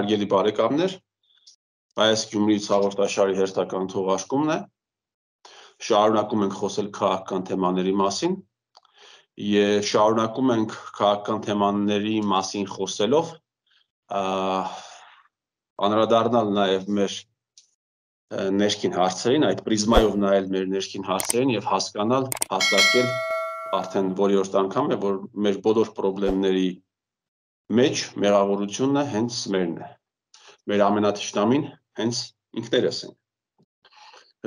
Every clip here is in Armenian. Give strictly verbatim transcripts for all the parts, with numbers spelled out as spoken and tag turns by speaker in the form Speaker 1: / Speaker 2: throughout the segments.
Speaker 1: Հարգելի բարեկամներ, այս Գյումրիից հաղորդաշարի հերթական թողարկումն է։ Շարունակում ենք խոսել քաղաքական թեմաների մասին եւ շարունակում ենք քաղաքական թեմաների մասին խոսելով անդրադառնալ նաեւ մեր ներքին հարցերին, այդ պրիզմայով նայել մեր ներքին հարցերին եւ հասկանալ, հաստատել արդեն որերորդ անգամ է, որ մեր բոլոր խնդիրների մեջ մեղավորությունը հենց մերն է։ Մեր ամենաթշնամին հենց ինքներս ենք։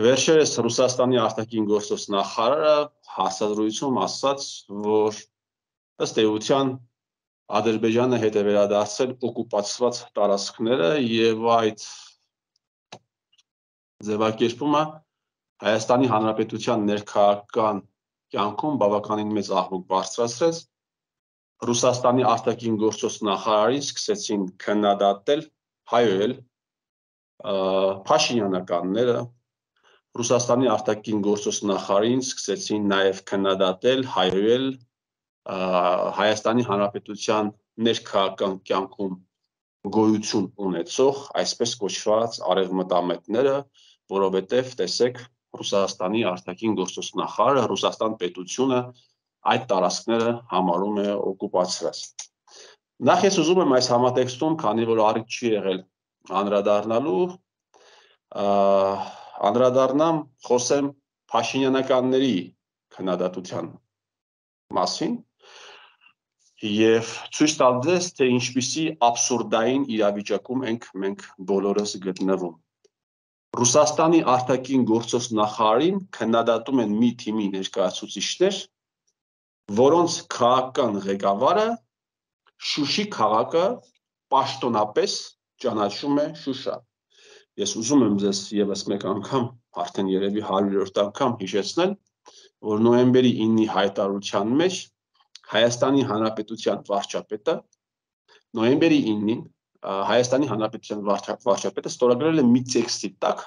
Speaker 1: Վերջերս Ռուսաստանի արտաքին գործոս նախարարը հաստատությունում ասաց, որ ըստ էության Ադրբեջանը հետ է վերադարձել օկուպացված տարածքները եւ այդ ձևակերպումը Հայաստանի Հանրապետության ներքաղաքական կյանքում բավականին մեծ աղմուկ բարձրացրեց։ Ռուսաստանի արտաքին գործոս նախարարին սկսեցին քննադատել, հայոել Փաշինյանականները, Ռուսաստանի արտաքին գործոս նախարարին սկսեցին նաև քննադատել, հայոել Հայաստանի Հանրապետության ներքաղաքական կյանքում գոյություն ունեցող, այսպես կոչված արևմտամետները, որովհետև տեսեք Ռուսաստանի արտաքին գործոս նախարարը, Ռուսաստան պետությունը այդ տարածքները համարում է օկուպացրած։ Նախ ես ուզում եմ այս համատեքստում, քանի որ առիթ չի եղել անդրադառնալու, անդրադառնամ, խոսեմ Փաշինյանականների քննադատության մասին եւ ցույց տալ ձեզ, թե ինչպիսի աբսուրդային իրավիճակում ենք մենք բոլորս գտնվում։ Ռուսաստանի արտաքին գործոս նախարարին քննադատում են մի թիմի ներկայացուցիչներ, որոնց քաղաքական ղեկավարը Շուշի քաղաքը պաշտոնապես ճանաչում է Շուշա։ Ես ուզում եմ ձեզ եւս մեկ անգամ, արդեն երևի հարյուրորդ անգամ հիշեցնել, որ նոյեմբերի իննի հայտարարության մեջ Հայաստանի Հանրապետության վարչապետը նոյեմբերի իննին Հայաստանի Հանրապետության վարչապետը ստորագրել է մի տեքստի տակ,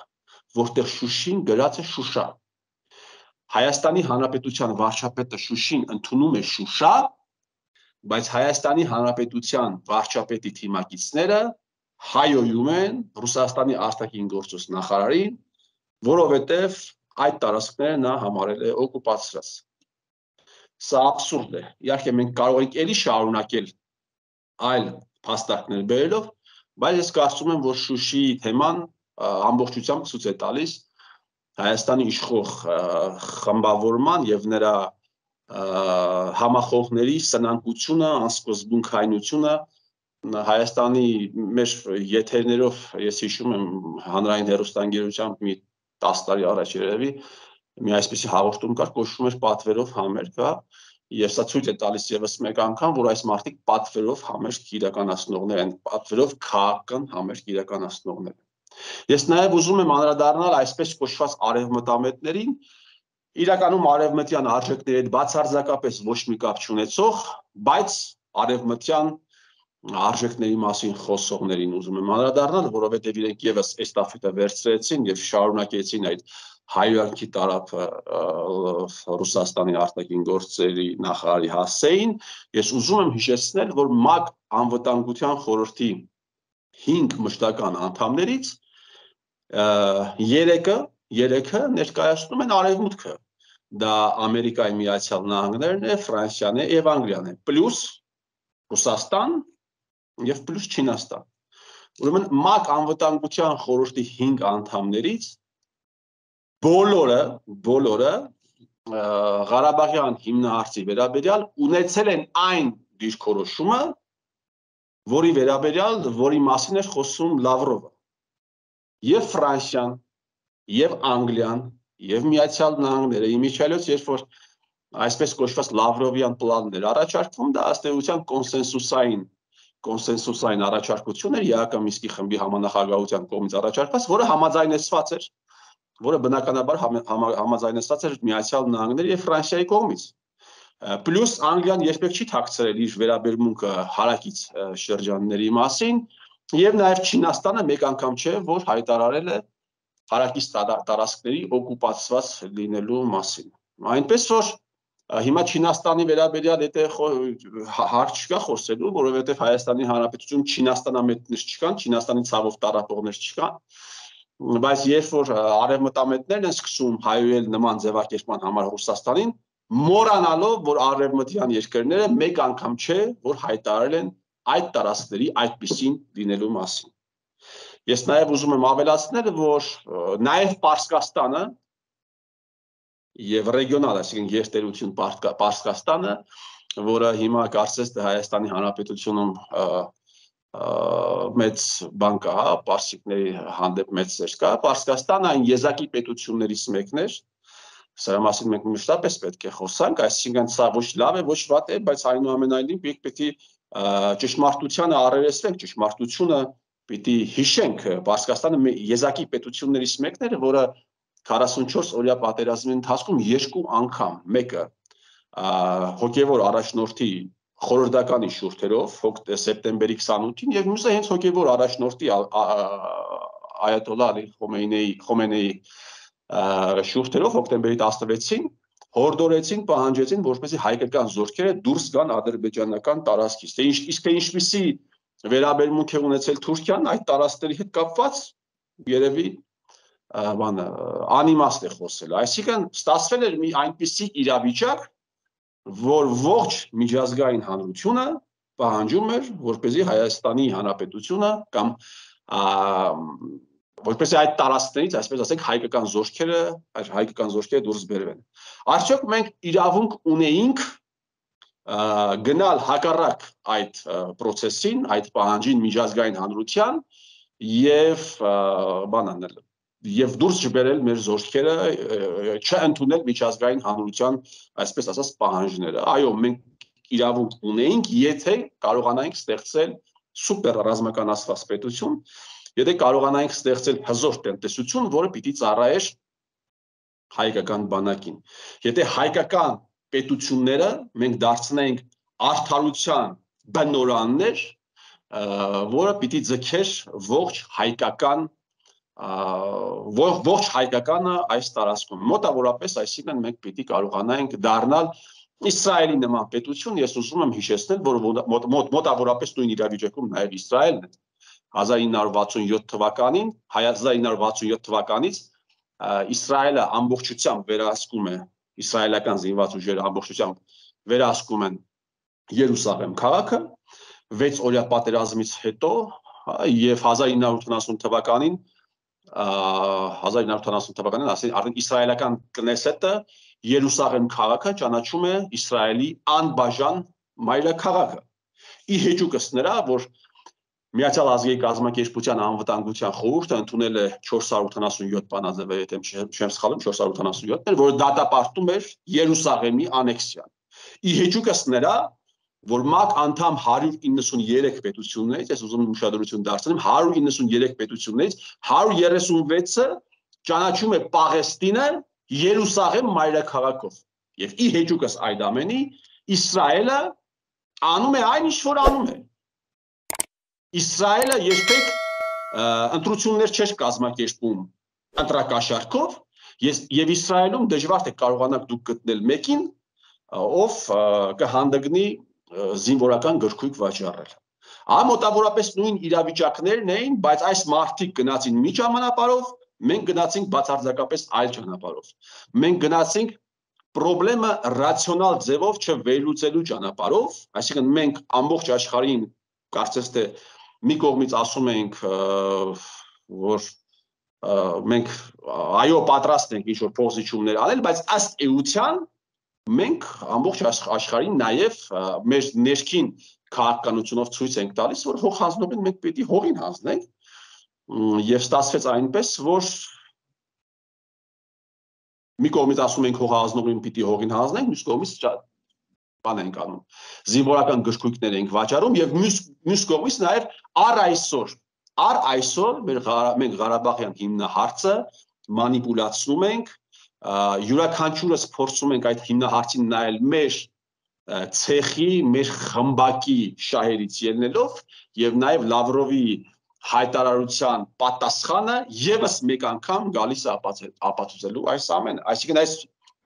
Speaker 1: որտեղ Շուշին գրած է Շուշա։ Հայաստանի Հանրապետության վարչապետը Շուշին ընդունում է Շուշա, բայց Հայաստանի Հանրապետության վարչապետի թիմակիցները հայոյում են Ռուսաստանի արտաքին գործոս նախարարին, որովհետև այդ տարածքները նա համարել է օկուպացրած։ Սա աբսուրդ է։ Իհարկե մենք կարող ենք էլի շարունակել այլ փաստարկներ բերելով, բայց ես կարծում եմ, որ Շուշիի թեման ամբողջությամբ ցույց է տալիս Հայաստանի իշխող խմբավորման եւ նրա համախոհների սնանկությունը, անսկզբունքայնությունը Հայաստանի մեր եթերներով ես հիշում եմ հանրային հեռուստաընկերությամբ մի տասը տարի առաջ երևի մի այսպիսի հաղորդում կար, կոչվում էր պատվերով համերգ, եւ սա ցույց է տալիս եւս մեկ անգամ, որ այս մարդիկ պատվերով համերգ իրականացնողներ են, պատվերով քաղաքական համերգ իրականացնողներ են։ Ես նաեւ ուզում եմ անդրադառնալ այսպես կոչված արևմտամետներին, իրականում արևմտյան արժեքների հետ բացարձակապես ոչ մի կապ չունեցող, բայց արևմտյան արժեքների մասին խոսողներին ուզում եմ անդրադառնալ, որովհետև իրենք եւս էստաֆետը վերցրեցին եւ շարունակեցին այդ հայոյանքի տարափը Ռուսաստանի արտաքին գործերի նախարարի հասցեին։ Ես ուզում եմ հիշեցնել, որ ՄԱԿ անվտանգության խորհրդի հինգ մշտական անդամներից երեքը, երեքը ներկայացնում են Արևմուտքը։ Դա Ամերիկայի Միացյալ Նահանգներն է, Ֆրանսիան է եւ Անգլիան է, պլյուս Ռուսաստան եւ պլյուս Չինաստան։ Ուրեմն ՄԱԿ անվտանգության խորհրդի հինգ անդամներից բոլորը, բոլորը Ղարաբաղյան հիմնահարցի վերաբերյալ ունեցել են այն դիրքորոշումը, որի վերաբերյալ, որի մասին էր խոսում Լավրովը։ Եվ Ֆրանսիան, եւ Անգլիան, եւ Միացյալ Նահանգները, իմիջիայլոց, երբ որ այսպես կոչված Լավրովյան պլանն էր առաջարկվում, դա ըստ էության կոնսենսուսային կոնսենսուսային առաջարկություն էր ԵԱՀԿ Մինսկի խմբի համանախագահության կողմից առաջարկված, որը համաձայնեցված էր, որը բնականաբար համաձայնեցված էր Միացյալ Նահանգների եւ Ֆրանսիայի կողմից։ Պլյուս Անգլիան երբեք չի թաքցրել իր վերաբերմունքը հարակից շրջանների մասին, եւ նաեւ Չինաստանը մեկ անգամ չէ, որ հայտարարել է հարակից տարածքների օկուպացված լինելու մասին։ Այնպես որ Հիմա Չինաստանի վերաբերյալ եթե հարց չկա խոսելու, որովհետև Հայաստանի Հանրապետություն Չինաստանամետներ չկան, Չինաստանի ցավով տառապողներ չկան, բայց երբ որ արևմտամետներն են սկսում հայոյել նման ձևակերպման համար Ռուսաստանին, մոռանալով, որ արևմտյան երկրները մեկ անգամ չէ, որ հայտարարել են այդ տարածքների այդպիսին լինելու մասին։ Ես նաև ուզում եմ ավելացնել, որ նաև Պարսկաստանը եւ ռեգիոնալ, այսինքն երթերություն Պարսկաստանը, որը հիմա կարծես թե Հայաստանի Հանրապետությունում մեծ բան կա, պարսիկների հանդեպ մեծ սեր կա, Պարսկաստանը այն եզակի պետություններից մեկն էր, սրա մասին մենք մշտապես պետք է խոսանք, այսինքն սա ոչ լավ է, ոչ վատ է, բայց այնուամենայնիվ մենք պետք է ճշմարտությանը առերեսվենք, ճշմարտությունը պիտի հիշենք, Պարսկաստանը եզակի պետություններից մեկն էր, որը քառասունչորս օրյա պատերազմի ընթացքում երկու անգամ, մեկը հոգևոր առաջնորդի խորհրդականի շուրթերով, սեպտեմբերի քսանութին եւ մյուսը հենց հոգևոր առաջնորդի Այաթոլլահ Ալի Խոմեյնիի շուրթերով հոկտեմբերի տասնվեցին հորդորեցին, պահանջեցին, որպեսզի հայկական զորքերը դուրս գան ադրբեջանական տարածքից։ Թե իսկ ինչպիսի վերաբերմունք է ունեցել Թուրքիան այդ տարածքների հետ կապված, երևի բանը անիմաստ է խոսել, այսինքն ստացվել էր մի այնպիսի իրավիճակ, որ ողջ միջազգային հանրությունը պահանջում էր, որպեսզի Հայաստանի Հանրապետությունը կամ որպեսզի այդ տարածքներից, այսպես ասենք, հայկական զորքերը, հայկական զորքերը դուրս բերվեն։ Արդյոք մենք իրավունք ունեինք գնալ հակառակ այդ process-ին, այդ պահանջին միջազգային հանրության եւ բան անել եւ դուրս չբերել մեր զորքերը, չընդունել միջազգային հանրության, այսպես ասած, պահանջները։ Այո, մենք իրավունք ունեինք, եթե կարողանայինք ստեղծել սուպեր ռազմականացված պետություն, եթե կարողանայինք ստեղծել հզոր տնտեսություն, որը պիտի ծառայեր հայկական բանակին։ Եթե հայկական պետությունները մենք դարձնենք արդարության բնորաններ, որը պիտի ձգեր ողջ հայկական ողջ հայկականը այս տարածքում մոտավորապես, այսինքն մենք պիտի կարողանայինք դառնալ Իսրայելի նման պետություն, ես ուզում եմ հիշեցնել, որ մոտավորապես նույն իրավիճակում նաև Իսրայելն է հազար ինը հարյուր վաթսունյոթ թվականին, հազար ինը հարյուր վաթսունյոթ թվականից Իսրայելը ամբողջությամբ վերահսկում է, իսրայելական զինված ուժերը ամբողջությամբ վերահսկում են Երուսաղեմ քաղաքը, վեց օրյա պատերազմից հետո եւ հազար ինը հարյուր ութանասուն թվականին հազար ինը հարյուր ութանասուն թվականին, արդեն իսրայելական Կնեսետը Երուսաղեմ քաղաքը ճանաչում է Իսրայելի անբաժան մայրաքաղաքը։ Ի հեճուկս նրա, որ Միացյալ Ազգերի կազմակերպության անվտանգության խորհուրդը ընդունել է չորս հարյուր ութանասունյոթ բանաձև, եթե չեմ սխալվում, չորս հարյուր ութանասունյոթ, որը դատապարտում էր Երուսաղեմի անեքսիան։ Ի հեճուկս նրա, որ ՄԱԿ անդամ հարյուր իննսուներեք պետություններից, ես ուզում եմ ուշադրություն դարձնեմ, հարյուր իննսուներեք պետություններից հարյուր երեսունվեցը ճանաչում է Պաղեստինը Երուսաղեմ մայրաքաղաքով։ Եվ ի հեճուկս այդ ամենի Իսրայելը անում է այն, ինչ որ անում է։ Իսրայելը երբեք ընտրություններ չէր կազմակերպում ընտրակաշառքով, եւ Իսրայելում դժվար թե կարողանաք դուք գտնել մեկին, ով կհանդգնի զինվորական գրքույկ վաճառել։ Ահա մոտավորապես նույն իրավիճակներն էին, բայց այս մարդիկ գնացին մի ճանապարհով, մենք գնացինք բացարձակապես այլ ճանապարհով։ Մենք գնացինք խնդրեմը ռացիոնալ ձևով չվերլուծելու ճանապարհով, այսինքն մենք ամբողջ աշխարհին կարծես թե մի կողմից ասում ենք, որ մենք այո պատրաստ ենք ինչ-որ փոխզիջումներ անել, բայց ըստ էության մենք ամբողջ աշխարհին նաև մեր ներքին քաղաքականությունով ցույց ենք տալիս, որ հող հանձնողին մենք պետք է հողին հանձնենք, եւ ստացվեց այնպես, որ մի կողմից ասում ենք հող հանձնողին պիտի հողին հանձնենք, մյուս կողմից բան ենք անում, զինվորական գրքույկներ ենք վաճառում եւ մյուս մյուս կողմից նաեւ առ այսօր, առ այսօր մենք Ղարաբաղյան հիմնահարցը մանիպուլացնում ենք, յուրաքանչյուրս փորձում ենք այդ հիմնահարցին նայել մեր ցեխի, մեր խմբակի շահերից ելնելով եւ նաեւ Լավրովի հայտարարության պատասխանը եւս մեկ անգամ գալիս է ապացուցելու այս ամենը, այսինքն այս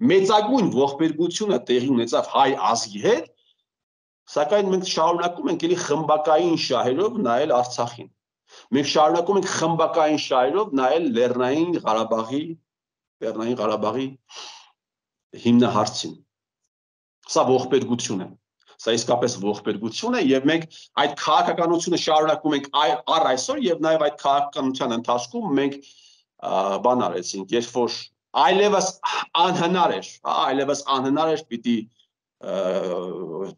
Speaker 1: մեծագույն ողբերգությունը տեղի ունեցավ հայ ազգի հետ, սակայն մենք շարունակում ենք էլի խմբակային շահերով նայել Արցախին։ Մենք շարունակում ենք խմբակային շահերով նայել Լեռնային Ղարաբաղի, Լեռնային Ղարաբաղի հիմնահարցին։ Սա ողբերգություն է։ Սա իսկապես ողբերգություն է եւ մենք այդ քաղաքականությունը շարունակում ենք առ այսօր եւ նաեւ այդ քաղաքականության ընթացքում մենք բան արեցինք, երբ որ այլևս անհնար էր, այլևս անհնար էր պիտի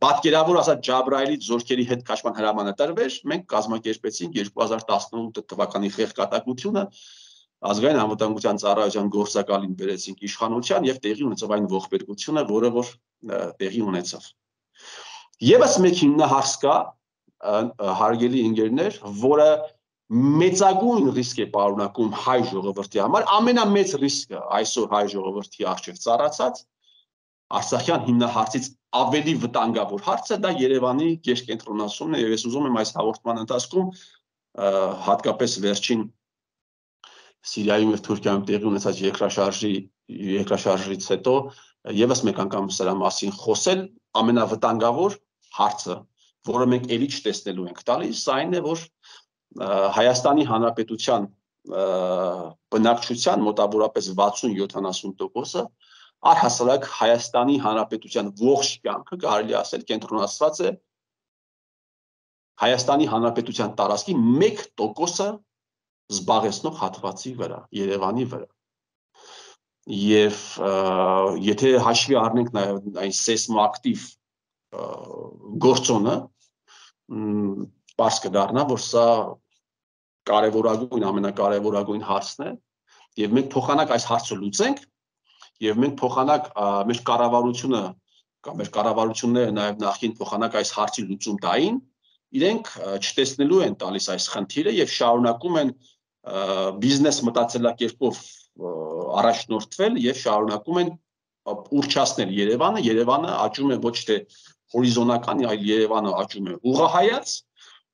Speaker 1: պատկերավոր ասած Ջաբրայելի զորքերի հետ քաշման հրամանը տրվեր, մենք կազմակերպեցինք երկու հազար տասնութ թվականի խեղճատակությունը, ազգային անվտանգության ծառայության գործակալին բերեցինք իշխանության եւ տեղի ունեցավ այն ողբերգությունը, որը որ տեղի ունեցավ։ Եվս մեկ հիմնահարց կա, հարգելի ընկերներ, որը մեծագույն ռիսկ է պարունակում հայ ժողովրդի համար, ամենամեծ ռիսկը այսօր հայ ժողովրդի առջև ծառացած Արցախյան հիմնահարցից ավելի վտանգավոր հարցը դա Երևանի գերկենտրոնացումն է եւ ես ուզում եմ այս հաղորդման ընթացքում հատկապես վերջին Սիրիայում եւ Թուրքիայում տեղի ունեցած երկրաշարժի երկրաշարժից հետո եւս մեկ անգամ սրա մասին խոսել ամենավտանգավոր հարցը, որը մենք ելի չտեսնելու ենք տալիս, այն է, որ Հայաստանի Հանրապետության բնակչության մոտավորապես վաթսուն յոթանասուն տոկոսը առհասարակ Հայաստանի Հանրապետության ողջ կյանքը կարելի ասել կենտրոնացված է Հայաստանի Հանրապետության տարածքի մեկ տոկոսը զբաղեցնող հատվածի վրա, Երևանի վրա։ Եվ եթե հաշվի առնենք նաև այն սեյսմոակտիվ գործոնը, պարզ կդառնա, որ սա կարևորագույն, ամենակարևորագույն հարցն է, եւ մենք փոխանակ այս հարցը լուծենք, եւ մենք փոխանակ մեր կառավարությունը կամ մեր կառավարությունները նաև նախին փոխանակ այս հարցի լուծում տային, իրենք չտեսնելու են տալիս այս խնդիրը եւ շարունակում են բիզնես մտածելակերպով առաջնորդվել եւ շարունակում են ուռչացնել Երևանը, Երևանը աճում է ոչ թե հորիզոնական, այլ Երևանը աճում է ուղղահայաց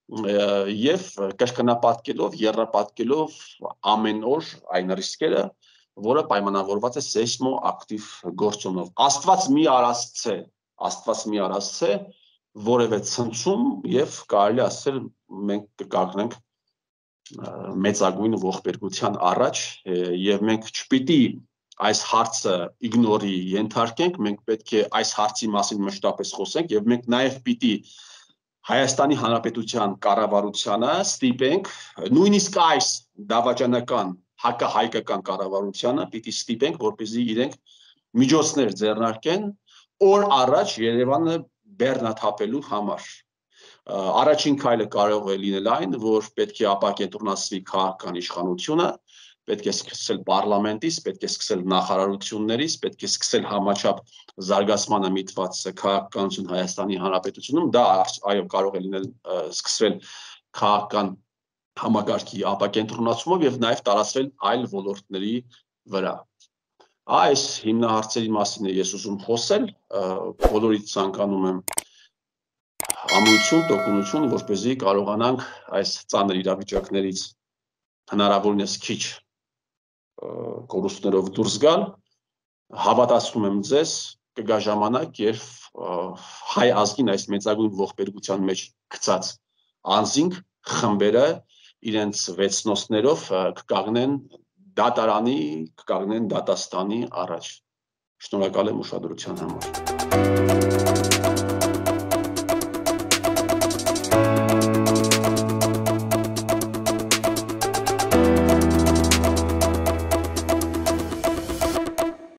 Speaker 1: եւ կրկնապատկելով, եռապատկելով ամեն օր այն ռիսկերը, որը պայմանավորված է սեյսմոակտիվ գործոնով։ Աստված մի արածցե, Աստված մի արածցե, որևէ ցնցում եւ կարելի ասել մենք կկանգնենք մեծագույն ողբերգության առաջ եւ մենք չպիտի այս հարցը իգնորի ենթարկենք, մենք պետք է այս հարցի մասին մշտապես խոսենք եւ մենք նաեւ պիտի Հայաստանի Հանրապետության կառավարությանը ստիպենք, նույնիսկ այս դավաճանական հակահայկական կառավարությանը պիտի ստիպենք, որպեսզի իրենք միջոցներ ձեռնարկեն օր առաջ Երևանը բեռնաթափելու համար։ Առաջին քայլը կարող է լինել այն, որ պետք է ապակենտրոնացվի քաղաքական իշխանությունը, պետք է սկսել պարլամենտից, պետք է սկսել նախարարություններից, պետք է սկսել համաչափ զարգացմանը միտված քաղաքականություն Հայաստանի Հանրապետությունում, դա այո կարող է լինել սկսվել քաղաքական համակարգի ապակենտրոնացումով եւ նաեւ տարածվել այլ ոլորտների վրա։ Այս հիմնահարցերի մասին է ես ուզում խոսել, բոլորիդ ցանկանում եմ ամուսնություն, տոկունություն, որպեսզի կարողանանք այս ծանր իրավիճակներից հնարավորինս քիչ կորուստներով դուրս գալ, հավատացնում եմ ձեզ, կգա ժամանակ, երբ հայ ազգին այս մեծագույն ողբերգության մեջ գցած անձինք, խմբերը իրենց վեցնոցներով կկանգնեն դատարանի, կկանգնեն դատաստանի առաջ։ Շնորհակալ եմ ուշադրության համար։